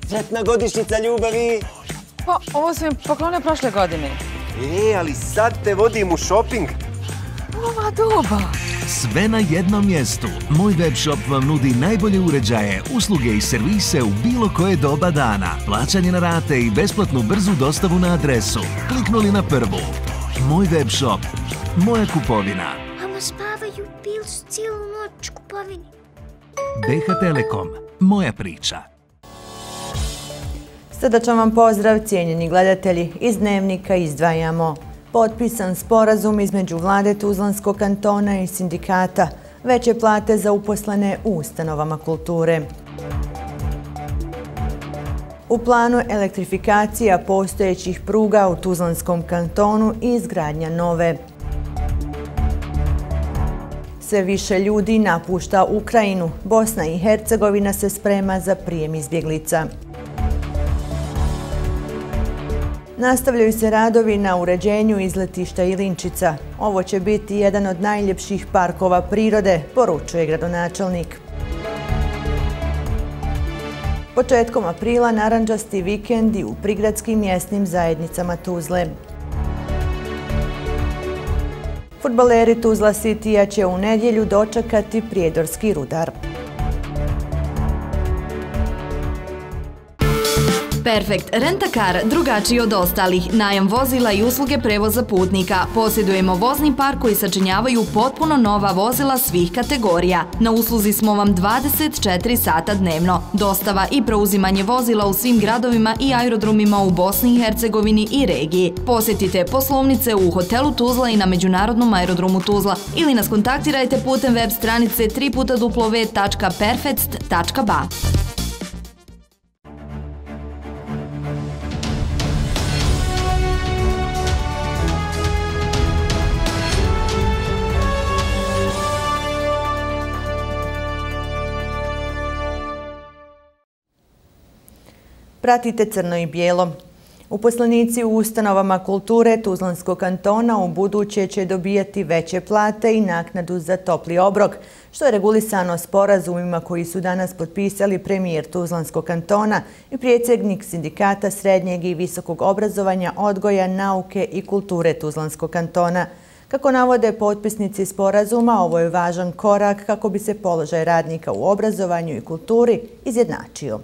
Sretna godišnjica ljubavi! Pa, ovo sam im poklonio prošle godine. Ali sad te vodim u šoping. Ova doba! Sve na jednom mjestu. Moj web shop vam nudi najbolje uređaje, usluge i servise u bilo koje doba dana. Plaćanje na rate i besplatnu brzu dostavu na adresu. Kliknuli na prvu. Moj web shop. Moja kupovina. Mama spavaju, bili su cijelu noć kupovini. BH Telekom. Moja priča. Srdačan vam pozdrav, cijenjeni gledatelji. Iz Dnevnika izdvajamo. Potpisan sporazum između vlade Tuzlanskog kantona i sindikata. Veće plate za uposlene u ustanovama kulture. U planu elektrifikacija postojećih pruga u Tuzlanskom kantonu i izgradnja nove. Sve više ljudi napušta Ukrajinu. Bosna i Hercegovina se sprema za prijem izbjeglica. Nastavljaju se radovi na uređenju izletišta Ilinčica. Ovo će biti jedan od najljepših parkova prirode, poručuje gradonačelnik. Početkom aprila narandžasti vikendi u prigradskim mjesnim zajednicama Tuzle. Fudbaleri Tuzla Citya će u nedjelju dočekati prijedorski Rudar. Perfekt Rent-A-Car, drugačiji od ostalih, najam vozila i usluge prevoza putnika. Posjedujemo vozni park koji sačinjavaju potpuno nova vozila svih kategorija. Na usluzi smo vam 24 sata dnevno. Dostava i preuzimanje vozila u svim gradovima i aerodromima u Bosni i Hercegovini i regiji. Posjetite poslovnice u hotelu Tuzla i na Međunarodnom aerodromu Tuzla ili nas kontaktirajte putem web stranice www.perfect.ba. Pratite Crno i bijelo. Uposlenici u ustanovama kulture Tuzlanskog kantona u buduće će dobijati veće plate i naknadu za topli obrok, što je regulisano sporazumima koji su danas potpisali premijer Tuzlanskog kantona i predsjednik sindikata srednjeg i visokog obrazovanja, odgoja, nauke i kulture Tuzlanskog kantona. Kako navode potpisnici sporazuma, ovo je važan korak kako bi se položaj radnika u obrazovanju i kulturi izjednačio.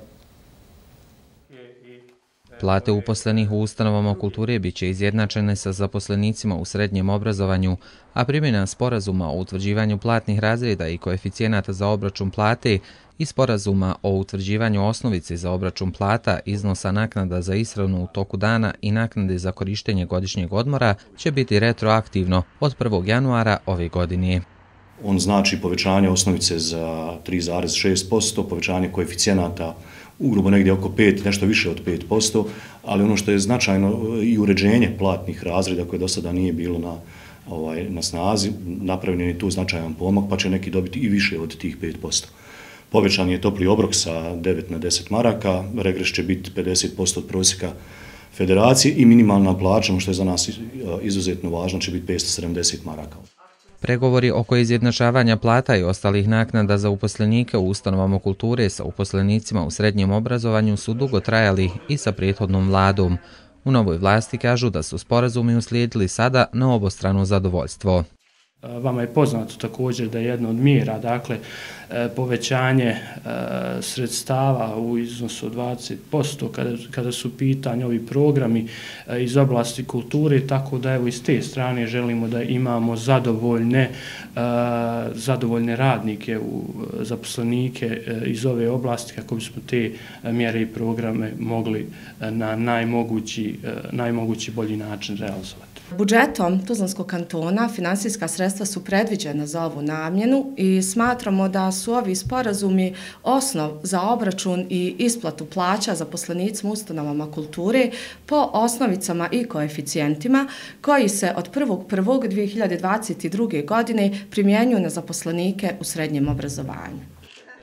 Plate uposlenih u ustanovama kulture bit će izjednačene sa zaposlenicima u srednjem obrazovanju, a primjena sporazuma o utvrđivanju platnih razreda i koeficijenata za obračun plate i sporazuma o utvrđivanju osnovice za obračun plata, iznosa naknada za ishranu u toku dana i naknade za korištenje godišnjeg odmora će biti retroaktivno od 1. januara ove godine. On znači povećanje osnovice za 3,6%, povećanje koeficijenata ugrubo negdje oko 5, nešto više od 5%, ali ono što je značajno i uređenje platnih razreda koje do sada nije bilo na snazi, napravljen je tu značajan pomak, pa će neki dobiti i više od tih 5%. Povećan je topli obrok sa 9 na 10 maraka, regres će biti 50% od prosjeka federacije i minimalna plaća, što je za nas izuzetno važno, će biti 570 maraka. Pregovori oko izjednačavanja plata i ostalih naknada za uposlenike u ustanovama kulture sa uposlenicima u srednjem obrazovanju su dugo trajali i sa prethodnom vladom. U novoj vlasti kažu da su sporazumi uslijedili sada na obostrano zadovoljstvo. Vama je poznato također da je jedna od mjera, dakle, povećanje sredstava u iznosu od 20% kada su pitanje ovi programi iz oblasti kulture, tako da evo iz te strane želimo da imamo zadovoljne radnike, zaposlenike iz ove oblasti kako bismo te mjere i programe mogli na najmogući bolji način realizovati. Budžetom Tuzlanskog kantona finansijska sredstva su predviđena za ovu namjenu i smatramo da su ovi sporazumi osnov za obračun i isplatu plaća zaposlenicima u ustanovama kulture po osnovicama i koeficijentima koji se od 1.1.2022. godine primjenjuju na zaposlenike u srednjem obrazovanju.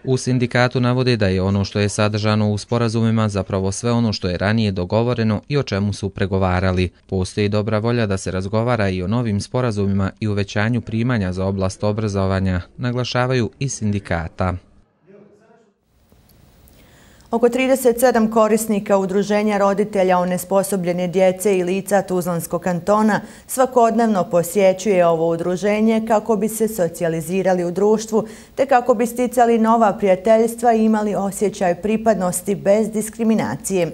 U sindikatu navode da je ono što je sadržano u sporazumima zapravo sve ono što je ranije dogovoreno i o čemu su pregovarali. Postoji dobra volja da se razgovara i o novim sporazumima i uvećanju primanja za oblast obrazovanja, naglašavaju i sindikata. Oko 37 korisnika Udruženja roditelja onesposobljene djece i lica Tuzlanskog kantona svakodnevno posjećuje ovo udruženje kako bi se socijalizirali u društvu te kako bi sticali nova prijateljstva i imali osjećaj pripadnosti bez diskriminacije.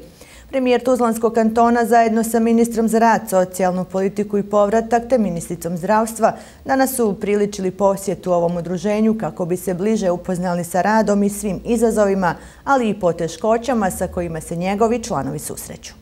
Premijer Tuzlanskog kantona zajedno sa ministrom za rad, socijalnu politiku i povratak te ministricom zdravstva danas su upriličili posjetu ovom udruženju kako bi se bliže upoznali sa radom i svim izazovima, ali i poteškoćama sa kojima se njegovi članovi susreću.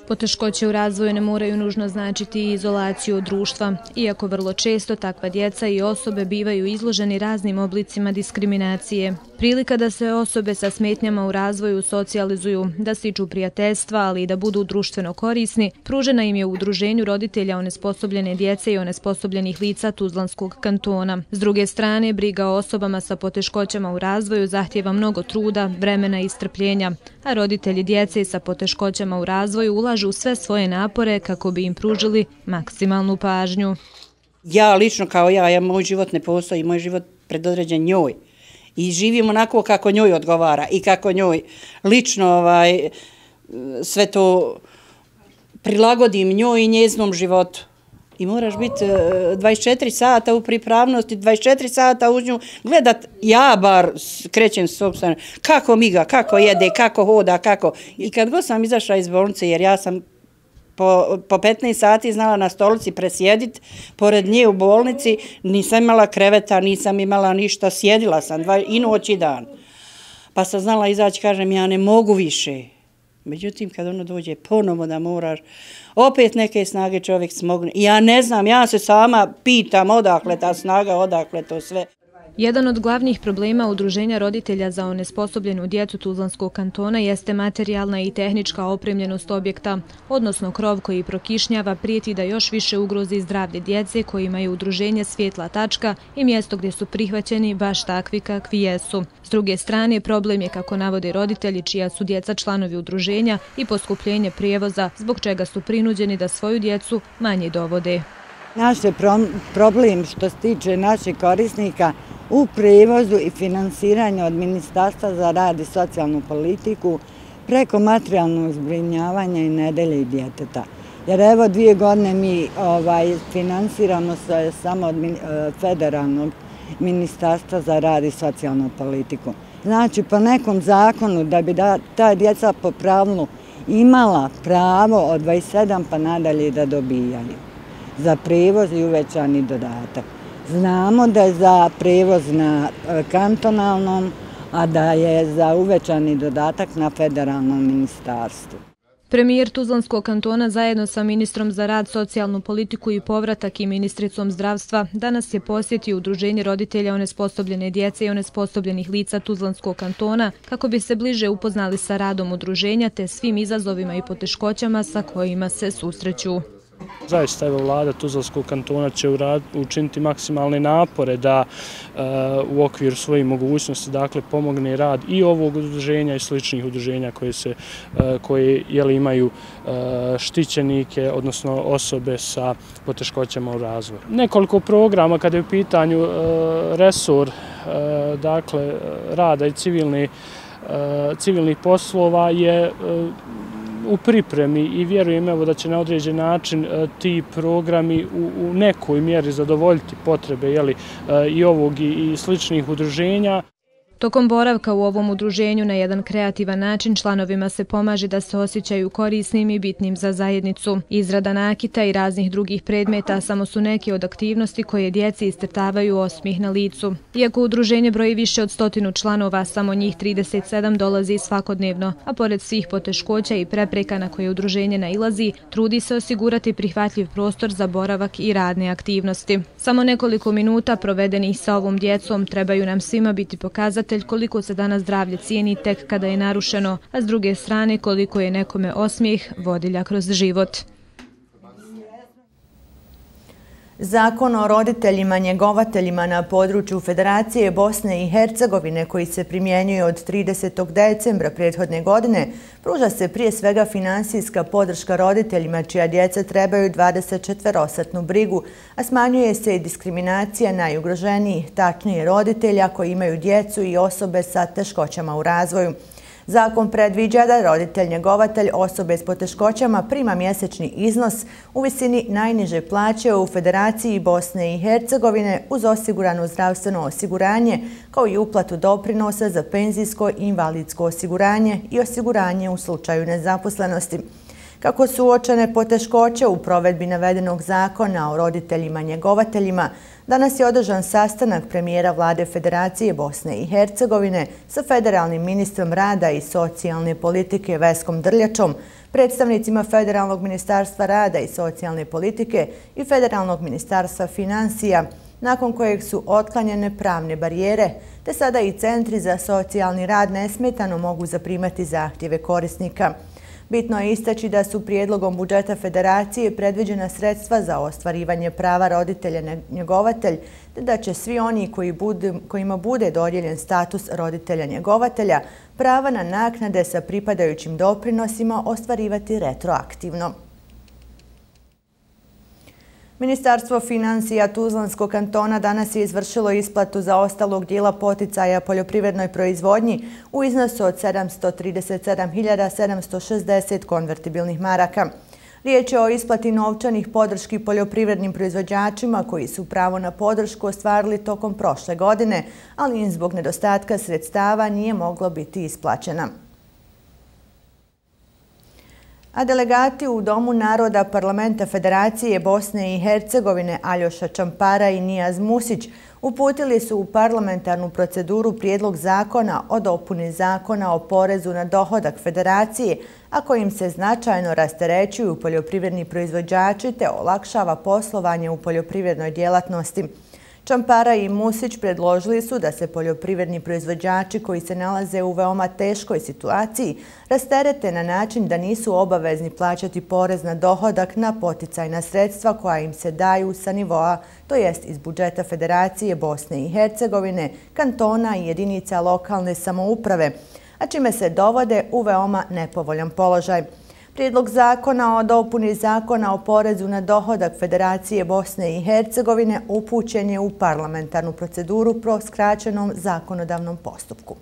Poteškoće u razvoju ne moraju nužno značiti izolaciju od društva, iako vrlo često takva djeca i osobe bivaju izloženi raznim oblicima diskriminacije. Prilika da se osobe sa smetnjama u razvoju socijalizuju, da stiču prijateljstva, ali i da budu društveno korisni, pružena im je u Udruženju roditelja onesposobljene djece i onesposobljenih lica Tuzlanskog kantona. S druge strane, briga o osobama sa poteškoćama u razvoju zahtijeva mnogo truda, vremena i strpljenja, a roditelji djece sa poteškoćama u razvoju ulažu sve svoje napore kako bi im pružili maksimalnu pažnju. Ja lično kao moj život ne postoji, moj život predodređen njoj. I živim onako kako njoj odgovara i kako njoj lično sve to prilagodim njoj i njeznom životu. I moraš biti 24 sata u pripravnosti, 24 sata uz nju gledat, ja bar krećem sobstveno, kako miga, kako jede, kako hoda, kako. I kad god sam izašla iz bolnice, jer ja sam po 15 sati znala na stolici presjediti, pored nje u bolnici, nisam imala kreveta, nisam imala ništa, sjedila sam i noć i dan. Pa sam znala izaći, kažem, ja ne mogu više. Međutim, kad ono dođe ponovo da moraš, opet neke snage čovjek smogne. Ja ne znam, ja se sama pitam odakle ta snaga, odakle to sve. Jedan od glavnih problema Udruženja roditelja za onesposobljenu djecu Tuzlanskog kantona jeste materijalna i tehnička opremljenost objekta, odnosno krov koji prokišnjava prijeti da još više ugrozi zdravlje djece kojima je udruženje svjetla tačka i mjesto gdje su prihvaćeni baš takvi kakvi jesu. S druge strane, problem je, kako navode roditelji čija su djeca članovi udruženja, i poskupljenje prijevoza, zbog čega su prinuđeni da svoju djecu manje dovode. Naš je problem što se tiče naših korisnika u prijevozu i finansiranju od Ministarstva za rad i socijalnu politiku preko materijalnog zbrinjavanja i nedelje i djeteta. Jer evo 2 godine mi finansiramo se samo od federalnog Ministarstva za rad i socijalnu politiku. Znači, po nekom zakonu da bi ta djeca po pravilu imala pravo od 27 pa nadalje da dobijaju za prijevoz i uvećani dodatak. Znamo da je za prijevoz na kantonalnom, a da je za uvećani dodatak na federalnom ministarstvu. Premijer Tuzlanskog kantona zajedno sa ministrom za rad, socijalnu politiku i povratak i ministricom zdravstva danas je posjetio Udruženje roditelja onesposobljene djece i onesposobljenih lica Tuzlanskog kantona kako bi se bliže upoznali sa radom udruženja te svim izazovima i poteškoćama sa kojima se susreću. Zaista, evo, vlada Tuzlanskog kantona će učiniti maksimalne napore da u okviru svojih mogućnosti pomogne rad i ovog udruženja i sličnih udruženja koje imaju štićenike, odnosno osobe sa poteškoćama u razvoju. Nekoliko programa kada je u pitanju resor rada i civilnih poslova je u pripremi i vjerujem da će na određen način ti programi u nekoj mjeri zadovoljiti potrebe i ovog i sličnih udruženja. Tokom boravka u ovom udruženju na jedan kreativan način članovima se pomaže da se osjećaju korisnim i bitnim za zajednicu. Izrada nakita i raznih drugih predmeta samo su neke od aktivnosti koje djeci istrtavaju osmijeh na licu. Iako udruženje broji više od 100 članova, samo njih 37 dolazi svakodnevno, a pored svih poteškoća i prepreka na koje udruženje nailazi, trudi se osigurati prihvatljiv prostor za boravak i radne aktivnosti. Samo nekoliko minuta provedenih sa ovom djecom trebaju nam svima biti pokazatelj koliko se danas zdravlje cijeni tek kada je narušeno, a s druge strane koliko je nekome osmijeh vodilja kroz život. Zakon o roditeljima njegovateljima na području Federacije Bosne i Hercegovine koji se primjenjuje od 30. decembra prethodne godine pruža se prije svega finansijska podrška roditeljima čija djeca trebaju 24-satnu brigu, a smanjuje se i diskriminacija najugroženijih, tačnije roditelja koji imaju djecu i osobe sa teškoćama u razvoju. Zakon predviđa da roditelj njegovatelj osobe s poteškoćama prima mjesečni iznos u visini najniže plaće u Federaciji Bosne i Hercegovine uz osigurano zdravstveno osiguranje kao i uplatu doprinosa za penzijsko i invalidsko osiguranje i osiguranje u slučaju nezaposlenosti. Kako su uočene poteškoće u provedbi navedenog zakona o roditeljima njegovateljima, danas je održan sastanak premijera vlade Federacije Bosne i Hercegovine sa federalnim ministrom rada i socijalne politike Veskom Drljačom, predstavnicima Federalnog ministarstva rada i socijalne politike i Federalnog ministarstva financija, nakon kojeg su otklanjene pravne barijere, te sada i centri za socijalni rad nesmetano mogu zaprimati zahtjeve korisnika. Bitno je istaći da su prijedlogom budžeta Federacije predviđena sredstva za ostvarivanje prava roditelja njegovatelj, te da će svi oni kojima bude dodijeljen status roditelja njegovatelja prava na naknade sa pripadajućim doprinosima ostvarivati retroaktivno. Ministarstvo financija Tuzlanskog kantona danas je izvršilo isplatu zaostalog dijela poticaja poljoprivrednoj proizvodnji u iznosu od 737.760 konvertibilnih maraka. Riječ je o isplati novčanih podrški poljoprivrednim proizvođačima koji su pravo na podršku ostvarili tokom prošle godine, ali im zbog nedostatka sredstava nije moglo biti isplaćena. A delegati u Domu naroda Parlamenta Federacije Bosne i Hercegovine Aljoša Čampara i Nijaz Musić uputili su u parlamentarnu proceduru prijedlog zakona o dopuni zakona o porezu na dohodak Federacije, a kojim se značajno rasterećuju poljoprivredni proizvođači te olakšava poslovanje u poljoprivrednoj djelatnosti. Čampara i Musić predložili su da se poljoprivredni proizvođači koji se nalaze u veoma teškoj situaciji rasterete na način da nisu obavezni plaćati porez na dohodak na poticajna sredstva koja im se daju sa nivoa, to jest iz budžeta Federacije Bosne i Hercegovine, kantona i jedinica lokalne samouprave, a čime se dovode u veoma nepovoljan položaj. Prijedlog zakona o dopuni zakona o porezu na dohodak Federacije Bosne i Hercegovine upućen je u parlamentarnu proceduru po skraćenom zakonodavnom postupku.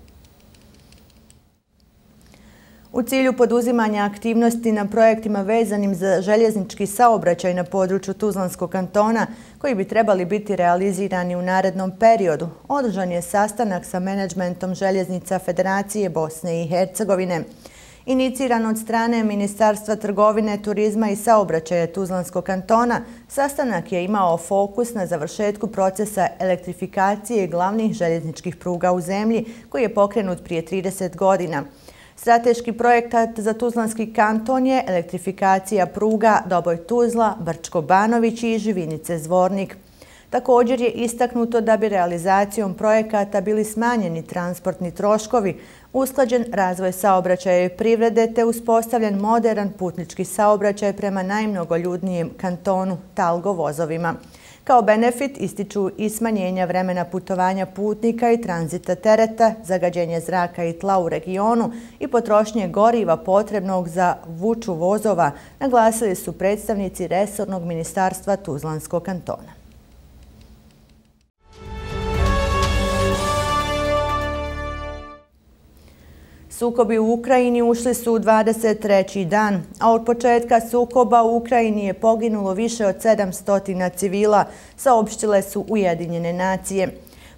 U cilju poduzimanja aktivnosti na projektima vezanim za željeznički saobraćaj na području Tuzlanskog kantona, koji bi trebali biti realizirani u narednom periodu, održan je sastanak sa menadžmentom željeznica Federacije Bosne i Hercegovine. Iniciran od strane Ministarstva trgovine, turizma i saobraćaja Tuzlanskog kantona, sastanak je imao fokus na završetku procesa elektrifikacije glavnih željezničkih pruga u zemlji, koji je pokrenut prije 30 godina. Strateški projekat za Tuzlanski kanton je elektrifikacija pruga Doboj-Tuzla, Brčko-Banović i Živinice-Zvornik. Također je istaknuto da bi realizacijom projekata bili smanjeni transportni troškovi, usklađen razvoj saobraćaja i privrede te uspostavljen moderan putnički saobraćaj prema najmnogoljudnijem kantonu Talgo vozovima. Kao benefit ističu i smanjenja vremena putovanja putnika i tranzita tereta, zagađenje zraka i tla u regionu i potrošnje goriva potrebnog za vuču vozova, naglasili su predstavnici resornog ministarstva Tuzlanskog kantona. Sukobi u Ukrajini ušli su u 23. dan, a od početka sukoba u Ukrajini je poginulo više od 700 civila, saopštile su Ujedinjene nacije.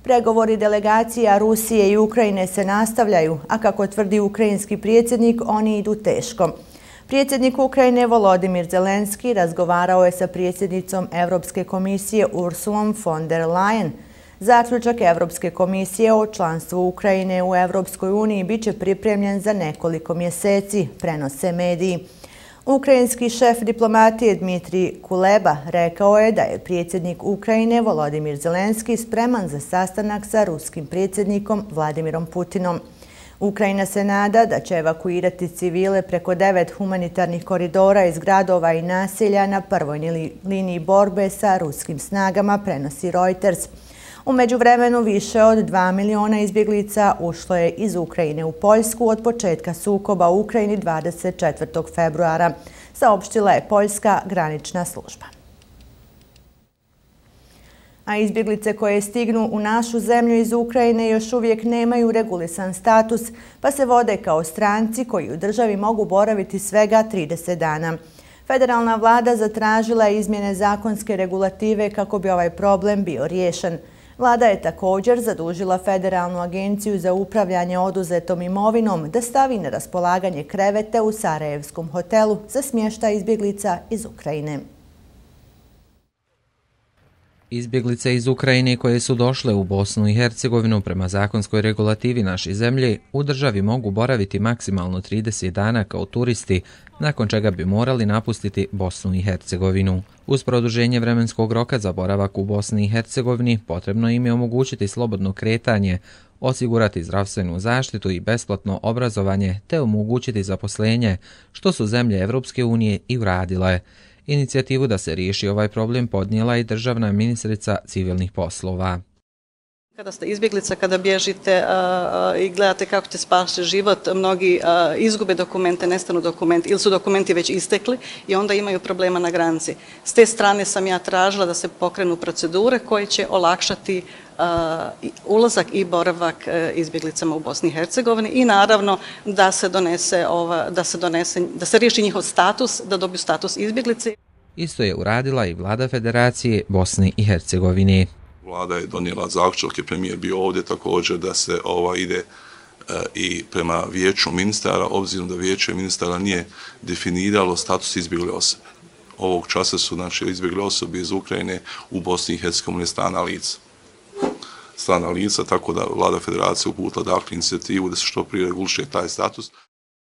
Pregovori delegacija Rusije i Ukrajine se nastavljaju, a kako tvrdi ukrajinski predsjednik, oni idu teško. Predsjednik Ukrajine Volodimir Zelenski razgovarao je sa predsjednicom Evropske komisije Ursulom von der Leyen. Zaključak Evropske komisije o članstvu Ukrajine u Evropskoj uniji biće pripremljen za nekoliko mjeseci, prenose mediji. Ukrajinski šef diplomatije Dmitrij Kuleba rekao je da je predsjednik Ukrajine Volodimir Zelenski spreman za sastanak sa ruskim predsjednikom Vladimirom Putinom. Ukrajina se nada da će evakuirati civile preko 9 humanitarnih koridora iz gradova i naselja na prvoj liniji borbe sa ruskim snagama, prenosi Reuters. U međuvremenu više od 2 miliona izbjeglica ušlo je iz Ukrajine u Poljsku od početka sukoba u Ukrajini 24. februara, saopštila je Poljska granična služba. A izbjeglice koje stignu u našu zemlju iz Ukrajine još uvijek nemaju regulisan status, pa se vode kao stranci koji u državi mogu boraviti svega 30 dana. Federalna vlada zatražila je izmjene zakonske regulative kako bi ovaj problem bio riješen. Vlada je također zadužila Federalnu agenciju za upravljanje oduzetom imovinom da stavi na raspolaganje krevete u Sarajevskom hotelu za smještaj izbjeglica iz Ukrajine. Izbjeglice iz Ukrajine koje su došle u Bosnu i Hercegovinu prema zakonskoj regulativi naše zemlje u državi mogu boraviti maksimalno 30 dana kao turisti, nakon čega bi morali napustiti Bosnu i Hercegovinu. Uz produženje vremenskog roka za boravak u Bosni i Hercegovini potrebno im je omogućiti slobodno kretanje, osigurati zdravstvenu zaštitu i besplatno obrazovanje te omogućiti zaposlenje, što su zemlje Evropske unije i uradile. Inicijativu da se riješi ovaj problem podnijela i državna ministrica civilnih poslova. Kada ste izbjeglica, kada bježite i gledate kako te spašće život, mnogi izgube dokumente, nestanu dokumenti ili su dokumenti već istekli i onda imaju problema na granici. S te strane sam ja tražila da se pokrenu procedure koje će olakšati ulazak i boravak izbjeglicama u Bosni i Hercegovini i naravno da se riješi njihov status, da dobiju status izbjeglice. Isto je uradila i vlada Federacije Bosne i Hercegovine. Vlada je donijela zaključak, je premijer bio ovdje također da se ide i prema vijeću ministara, obzirom da vijeće ministara nije definiralo status izbjegle osobe. Ovog časa su izbjegle osobe iz Ukrajine u Bosni i Hercegovini strana lica, tako da vlada Federacije uputila inicijativu da se što prije reguliše taj status.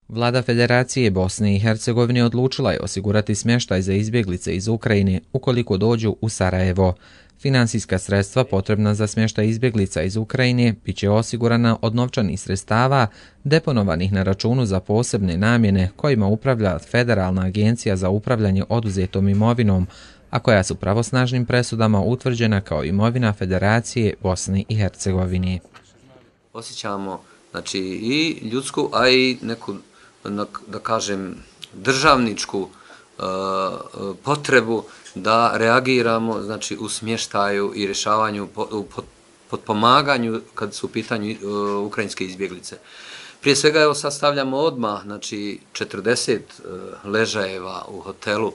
Vlada Federacije Bosne i Hercegovine odlučila je osigurati smještaj za izbjeglice iz Ukrajine ukoliko dođu u Sarajevo. Finansijska sredstva potrebna za smještaj izbjeglica iz Ukrajine bit će osigurana od novčanih sredstava deponovanih na računu za posebne namjene kojima upravlja Federalna agencija za upravljanje oduzetom imovinom, a koja su pravosnažnim presudama utvrđena kao imovina Federacije Bosne i Hercegovine. Osjećamo i ljudsku, a i neku, da kažem, državničku potrebu da reagiramo u smještaju i rješavanju, potpomaganju kad su u pitanju ukrajinske izbjeglice. Prije svega sastavljamo odmah 40 ležajeva u hotelu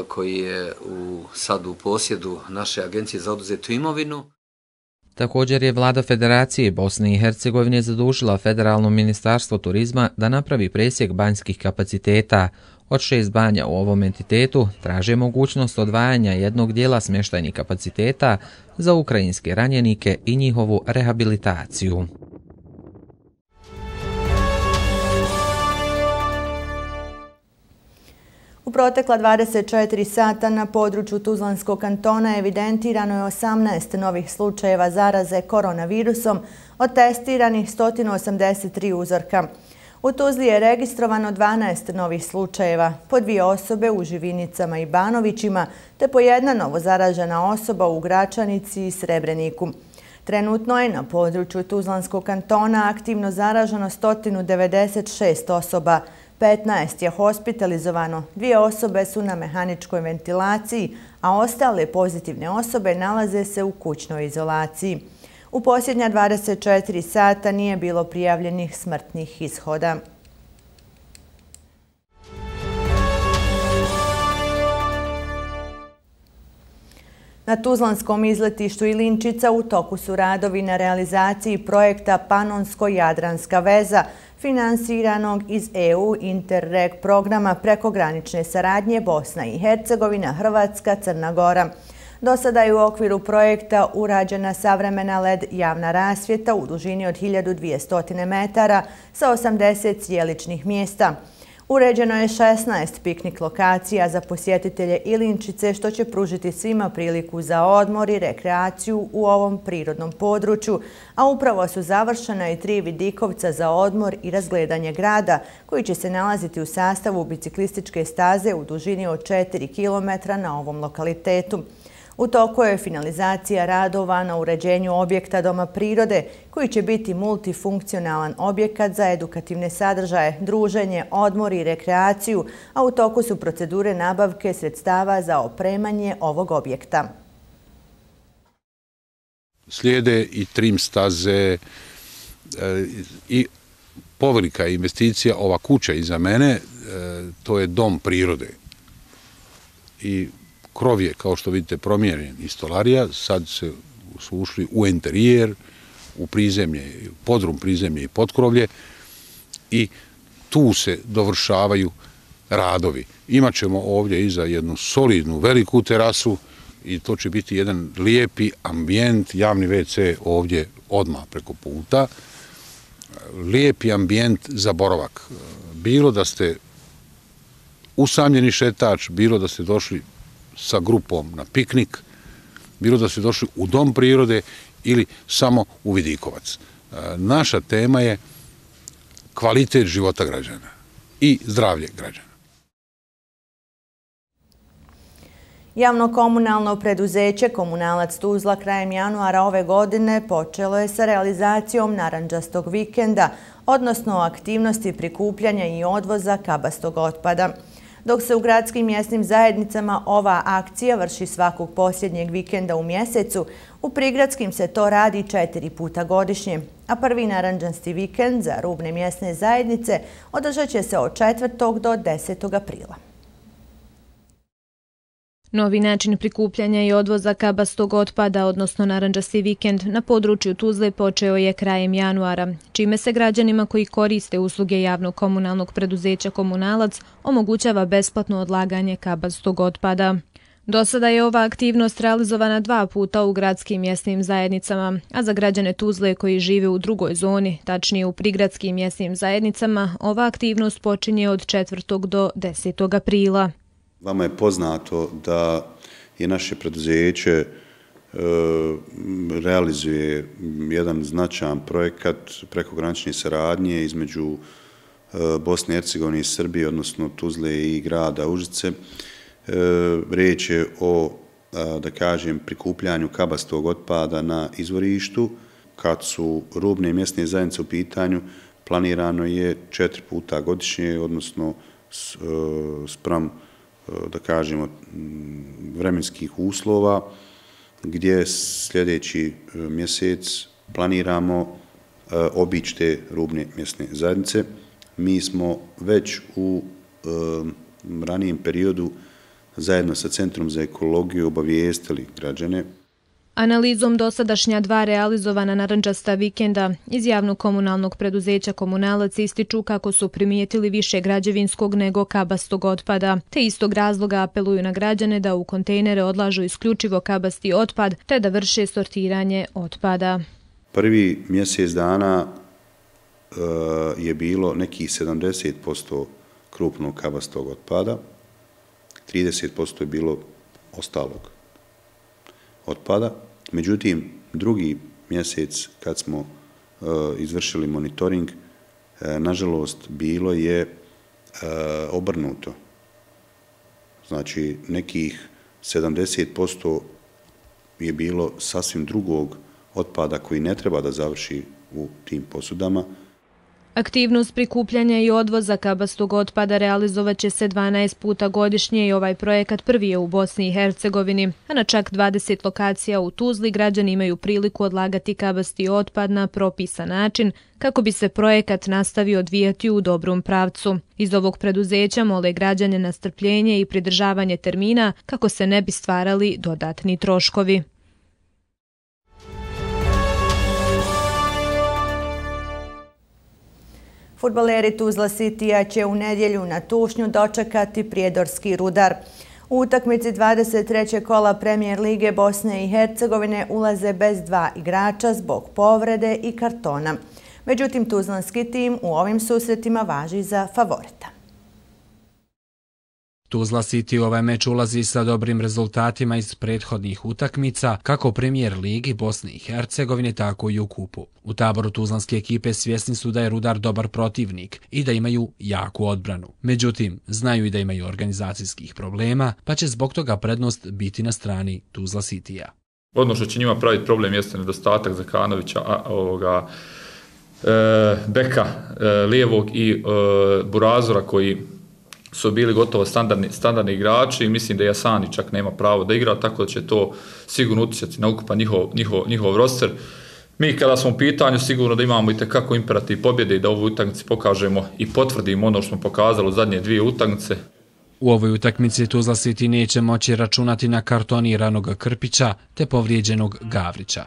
koji je sad u posjedu naše agencije za oduzetu imovinu. Također je vlada Federacije Bosne i Hercegovine zadužila Federalno ministarstvo turizma da napravi presjek banjskih kapaciteta. Od 6 banja u ovom entitetu traže mogućnost odvajanja jednog dijela smještajnih kapaciteta za ukrajinske ranjenike i njihovu rehabilitaciju. U protekla 24 sata na području Tuzlanskog kantona evidentirano je 18 novih slučajeva zaraze koronavirusom od testiranih 183 uzorka. U Tuzli je registrovano 12 novih slučajeva, po 2 osobe u Živinicama i Banovićima, te po 1 novo zaražena osoba u Gračanici i Srebreniku. Trenutno je na području Tuzlanskog kantona aktivno zaraženo 196 osoba, 15 je hospitalizovano, 2 osobe su na mehaničkoj ventilaciji, a ostale pozitivne osobe nalaze se u kućnoj izolaciji. U posljednja 24 sata nije bilo prijavljenih smrtnih ishoda. Na Tuzlanskom izletištu Ilinčica u toku su radovi na realizaciji projekta Panonsko-Jadranska veza, finansiranog iz EU Interreg programa prekogranične saradnje Bosna i Hercegovina, Hrvatska, Crna Gora. Do sada je u okviru projekta urađena savremena LED javna rasvjeta u dužini od 1200 metara sa 80 sjeličnih mjesta. Uređeno je 16 piknik lokacija za posjetitelje Ilinčice, što će pružiti svima priliku za odmor i rekreaciju u ovom prirodnom području, a upravo su završena i 3 vidikovca za odmor i razgledanje grada, koji će se nalaziti u sastavu biciklističke staze u dužini od 4 km na ovom lokalitetu. U toku je finalizacija radova na uređenju objekta Doma prirode, koji će biti multifunkcionalan objekat za edukativne sadržaje, druženje, odmor i rekreaciju, a u toku su procedure nabavke sredstava za opremanje ovog objekta. Slijede i trim staze i povelika investicija. Ova kuća iza mene, to je Dom prirode. I krov je, kao što vidite, promijenjen iz stolarija, sad su ušli u interijer, u prizemlje, podrum prizemlje i potkrovlje i tu se dovršavaju radovi. Imaćemo ovdje iza jednu solidnu, veliku terasu i to će biti jedan lijepi ambijent, javni WC ovdje odmah preko puta, lijepi ambijent za boravak. Bilo da ste usamljeni šetač, bilo da ste došli sa grupom na piknik, bilo da ste došli u Dom prirode ili samo u Vidikovac. Naša tema je kvalitet života građana i zdravlje građana. Javno-komunalno preduzeće Komunalac Tuzla krajem januara ove godine počelo je sa realizacijom narandžastog vikenda, odnosno aktivnosti prikupljanja i odvoza kabastog otpada. Dok se u gradskim mjesnim zajednicama ova akcija vrši svakog posljednjeg vikenda u mjesecu, u prigradskim se to radi 4 puta godišnje, a prvi narandžasti vikend za rubne mjesne zajednice održat će se od 4. do 10. aprila. Novi način prikupljanja i odvoza kabastog otpada, odnosno narandžasti vikend, na području Tuzle počeo je krajem januara, čime se građanima koji koriste usluge javno-komunalnog preduzeća Komunalac omogućava besplatno odlaganje kabastog otpada. Do sada je ova aktivnost realizovana 2 puta u gradskim mjesnim zajednicama, a za građane Tuzle koji žive u drugoj zoni, tačnije u prigradskim mjesnim zajednicama, ova aktivnost počinje od 4. do 10. aprila. Vama je poznato da je naše preduzeće realizuje jedan značajan projekat prekogranične saradnje između Bosne i Hercegovine i Srbije, odnosno Tuzle i grada Užice. Riječ je o, da kažem, prikupljanju kabastog otpada na izvorištu. Kad su rubne mjesne zajednice u pitanju, planirano je 4 puta godišnje, odnosno spram, da kažemo, vremenskih uslova, gdje sljedeći mjesec planiramo obići te rubne mjesne zajednice. Mi smo već u ranijem periodu zajedno sa Centrom za ekologiju obavijestili građane. Analizom dosadašnja 2 realizovana narandžasta vikenda iz javno-komunalnog preduzeća Komunalac ističu kako su primijetili više građevinskog nego kabastog otpada, te istog razloga apeluju na građane da u kontejnere odlažu isključivo kabasti otpad, te da vrše sortiranje otpada. Prvi mjesec dana je bilo nekih 70% krupnog kabastog otpada, 30% je bilo ostalog otpada. Međutim, drugi mjesec kad smo izvršili monitoring, nažalost, bilo je obrnuto. Znači, nekih 70% je bilo sasvim drugog otpada koji ne treba da završi u tim posudama. Aktivnost prikupljanja i odvoza kabastog otpada realizovat će se 12 puta godišnje i ovaj projekat prvi je u Bosni i Hercegovini, a na čak 20 lokacija u Tuzli građani imaju priliku odlagati kabasti otpad na propisan način kako bi se projekat nastavio odvijati u dobrom pravcu. Iz ovog preduzeća mole građane na strpljenje i pridržavanje termina kako se ne bi stvarali dodatni troškovi. Fudbaleri Tuzla Citya će u nedjelju na Tušnju dočekati prijedorski Rudar. U utakmici 23. kola Premijer lige Bosne i Hercegovine ulaze bez 2 igrača zbog povrede i kartona. Međutim, tuzlanski tim u ovim susretima važi za favorita. Tuzla City u ovaj meč ulazi sa dobrim rezultatima iz prethodnih utakmica, kako u Premier ligi Bosne i Hercegovine, tako i u kupu. U taboru tuzlanske ekipe svjesni su da je Rudar dobar protivnik i da imaju jaku odbranu. Međutim, znaju i da imaju organizacijskih problema, pa će zbog toga prednost biti na strani Tuzla Citya. Ono što će njima praviti problem jeste nedostatak Zekanovića, beka lijevog i Burazora koji su bili gotovo standardni igrači i mislim da Jasani čak nema pravo da igra, tako da će to sigurno utjecati na ukupan njihov roster. Mi kada smo u pitanju sigurno da imamo i tekako imperativ pobjede i da u ovoj utakmici pokažemo i potvrdimo ono što smo pokazali u zadnje 2 utakmice. U ovoj utakmici Tuzla City neće moći računati na kartoniranog Krpića te povrijeđenog Gavrića.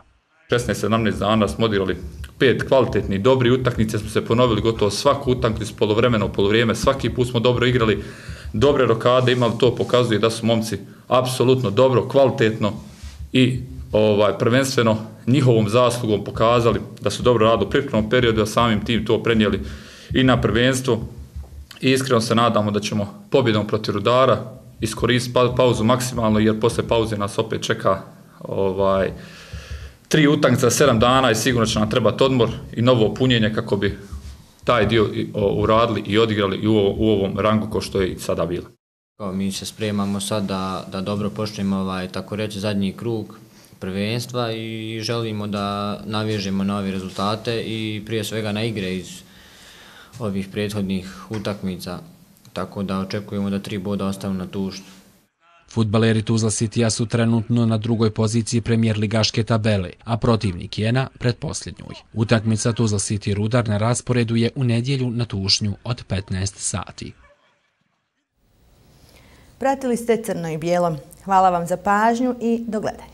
16-17 dana smo odigrali 5 kvalitetnih, dobri utakmice, smo se ponovili gotovo svaku utakmicu, poluvremeno, poluvrijeme, svaki put smo dobro igrali, dobre rokade imali, to pokazuje da su momci apsolutno dobro, kvalitetno i prvenstveno njihovom zaslugom pokazali da su dobro radili u pripremnom periodu, a samim tim to prenijeli i na prvenstvo. I iskreno se nadamo da ćemo pobjedom protiv Rudara iskoristiti pauzu maksimalno, jer posle pauze nas opet čeka 3 utakmice za 7 dana i sigurno će nam trebati odmor i novo punjenje kako bi taj dio uradili i odigrali i u ovom rangu kao što je i sada bilo. Mi se spremamo sad da dobro počnemo tako reći zadnji krug prvenstva i želimo da navežemo nove rezultate i prije svega na igre iz ovih prethodnih utakmica, tako da očekujemo da 3 boda ostanu na tuštu. Fudbaleri Tuzla Citya su trenutno na 2. poziciji premijer ligaške tabele, a protivnik je na pretposljednjoj. Utakmica Tuzla City Rudar na rasporedu je u nedjelju na Tušnju od 15 sati. Pratili ste Crno i bijelo. Hvala vam za pažnju i do gledanja.